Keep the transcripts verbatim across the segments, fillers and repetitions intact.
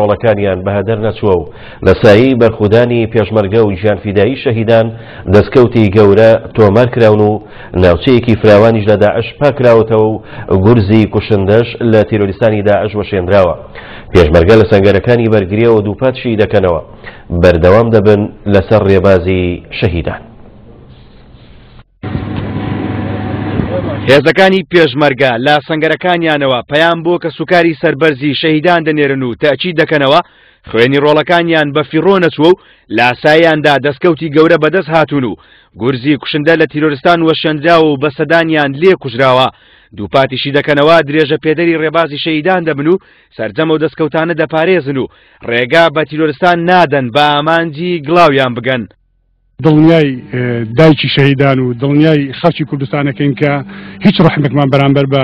ڕۆڵەکانیان بەهەدەر نەچووە و لە سایەی بەرخودانی پێشمەرگە و گیانفیدایی شەهیدان دەستکەوتی گەورە تۆمار کراون و ناوچەیەکی فراوانیش لە داعش پاکراوەتەوە و گورزی کوشندەش لە تیرۆریستانی داعش وەشێنراوە. پێشمەرگە لە سەنگەرەکانی بەرگریەوە دووپاتشی دەکەنەوە بەردەوام دەبن لەسەر ڕێبازی شەهیدان. هێزەکانی پێشمەرگە لە سەنگەرەکانیانەوە پەیام بۆ کەسوکاری سەربەرزی شەهیدان دەنێرن و تەئکید دەکەنەوە خوێنی ڕۆڵەکانیان بە فیڕۆ نەچووە و لاساییاندا دەستکەوتی گەورە بەدەست هاتوون و گورزی کوشندە لە تیرۆرستان وەشێنراوە و بەسەدانیان لێ کوژراوە. دووپاتیشی دەکەنەوە درێژە پێدەری ڕێبازی شەهیدان دەبن و سەرجەمە و دەستکەوتانە دەپارێزن و ڕێگا بە تیرۆرستان نادەن بە ئامانجی گڵاویان بگەن. دڵنیای دایکی شەهیدان و دڵنیای خەڵکی کوردستانەکەین کە هیچ ڕەحمێکمان بەرامبەر بە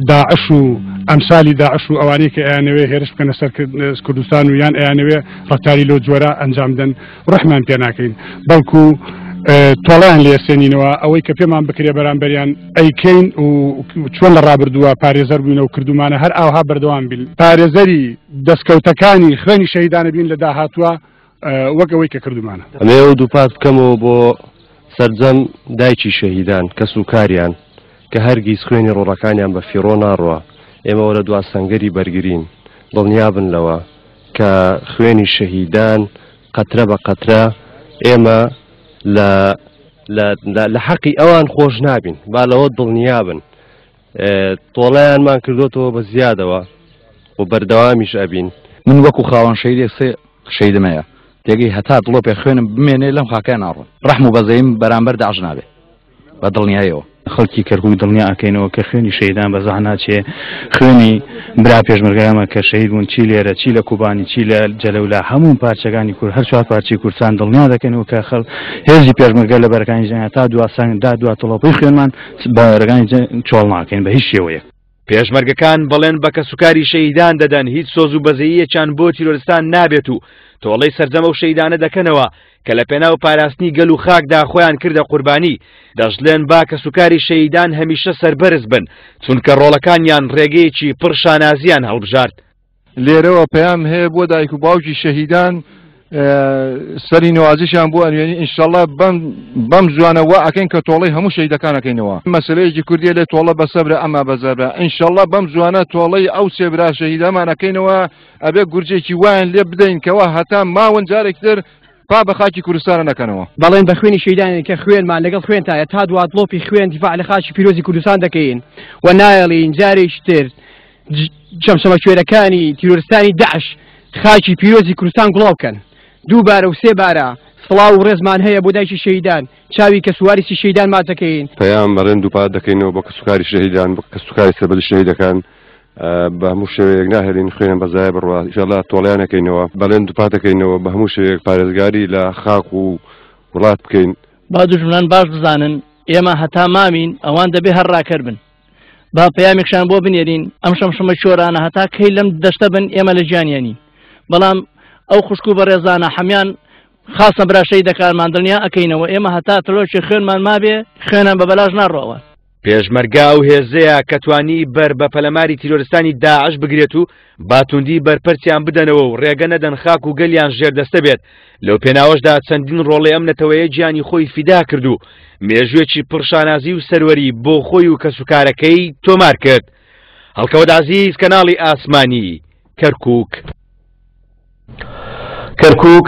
داعش و ئەمسالی داعش و ئەوانەی کە ئەیانەوێ هێرش بکەنە سەر کوردستان و یان ئەیانەوێ ڕەفتاری لەو جۆرە ئەنجام بدەن ڕەحمان پێ ناکەین، بەڵکو تۆڵیان لێسێنینەوە. ئەوەی کە پێمان بکرێ بەرامبەریان ئەیکەین و چۆن لە ڕابردووە پارێزەر بووینە و کردومانە هەر ئاوها بەردەوام بین، پارێزەری دەستکەوتەکانی خوێنی شەهیدانە بین لە داهاتووە وەک ئەوەی کە کردومانە. ئەمەوە دووپات بکەمەوە بۆ سەرجەم دایکی شەهیدان کەس و کاریان کە هەرگیز خوێنی ڕۆڵەکانیان بە فیڕۆ ناڕوە. ئێمەوە لە دوا سەنگەری بەرگرین، دڵنیابن لەوە کە خوێنی شەهیدان قەترە بە قەترە ئێمە لە حەقی ئەوان خۆش نابین، با لەوە دڵنیابن. تۆڵەیانمان کردوتەوە بە زیادەوە و بەردەوامیش ئەبین. من وەکو خاوەن شەهیدێک سێ شەهیدم هەیە، تێگەی هەتا دڵۆپێ خوێنم بمێنێ لەم خاکەیان ناڕۆن، ڕەحم و بەزەیم بەرامبەر داعش نابێ بە دڵنیایەوە. خەڵکی کەرکوک دڵنیا ئەکەینەوە کە خوێنی شەهیدان بە زەح ناچێ، خوێنی برا پێشمەرگەیانمان کە شەهید بوون چی لێرە چی لە کوبانی چی لە جەلەولا هەموو پارچەکانی کورد هەر چوار پارچەی کوردستان دڵنیا دەکەینەوە کە خەڵ هێزی پێشمەرگە لە بەرەکانی جەنگ تا دوا سەنگ دا دوا تڵۆپەی خوێنمان بەرەکانی چۆڵ ناکەین بە هیچ شێوەیەک. پێشمەرگەکان بەڵێن بە کەسوکاری شەهیدان دەدەن هیچ سۆز و بەزەییەکیان بۆ تیرۆرستان نابێت و تۆڵەی سەرجەمە و شەهیدانە دەکەنەوە کە لە پێناو پاراستنی گەل و خاکدا خۆیان کردە قوربانی. دەشڵێن با کەسوکاری شەهیدان هەمیشە سەربەرز بن، چونکە ڕۆڵەکانیان ڕێگەیەکی پڕ شانازیان هەڵبژارد. لێرەوە پەیام هەیە بۆ دایک و باوکی شەهیدان سەری نوازیشیان بۆ ئەنوێنی ئینشاءڵڵا بەم زوانە وا ئەکەین کە تۆڵەی هەموو شەهیدەکان ئەکەینەوە. مەسەلەیەکی کوردیە لێ تۆڵە بە سەبرە ئەما بە زەبرە. ئینشاءڵڵا بەم زوانە تۆڵەی ئەو سێ برا شەهیدەمان ئەکەینەوە، ئەبێ گورجێکی وایان لێ بدەین کەوا هەتا ماون جارێکتر پا بە خاکی کوردستانە نەکەنەوە. بەڵێن بە خوێنی شەهیدانێن کە خوێنمان لەگەڵ خوێنتایە تا دوا دڵۆپی خوێن دیفاع لە خاکی پیرۆزی کوردستان دەکەین و نایەڵین جارێکی تر چەمچەمە کوێرەکانی تیرۆرستانی داعش خاکی پیرۆزی کوردستان گوڵاو بکەن. دووبارە و سێ بارە سڵاو و ڕێزمان هەیە بۆ دایکی شەهیدان، چاوی کەسوارسی شەهیدان ماچ دەکەین. پەیام بەڵێن دووپات دەکەینەوە بۆ کەسوکاری شەهیدان، بۆ کەسوکاری سەربەرزی شەهیدەکان، بە هەموو شێوەیەک ناهێڵین خوێنیان بەزایە بڕوا، ئینشاءڵڵا تۆڵەیان ئەکەینەوە. بەڵێن دووپات دەکەینەوە بە هەموو شێوەیەک پارێزگاری لە خاک و وڵات بکەین. با دوژمنان باش بزانن ئێمە هەتا مامین ئەوان دەبێ هەر ڕاکەر بن. با پەیامێکشان بۆ بنێرین ئەم شەمشەمە چۆرانە هەتا کەی لەم دەشتە بن ئێمە لە گیانیانین. بەڵام ئەو خوشک و بەڕێزانە حەمیان خاصە برا شەهیدەکانمان دڵنیا ئەکەینەوە ئێمە هەتا تڵۆکی خوێنمان مابێ خوێنان بە بەلاش ناڕۆەوە. پێشمەرگە ئەو هێزەیە کە توانی بەر بە پەلەماری تیرۆرستانی داعش بگرێت و باتوندی بەرپەرچیان بدەنەوە و ڕێگە نەدەن خاک و گەلیان ژێردەستە بێت. لەو پێناوەشدا چەندین ڕۆڵی ئەم نەتەوەیە گیانی خۆی فیدا کرد و مێژوێکی پڕشانازی و سەروەری بۆ خۆی و کەسوکارەکەی تۆمار کرد. هەڵکەوت عەزیز، کەناڵی ئاسمانی، کەرکوک. کەرکوک.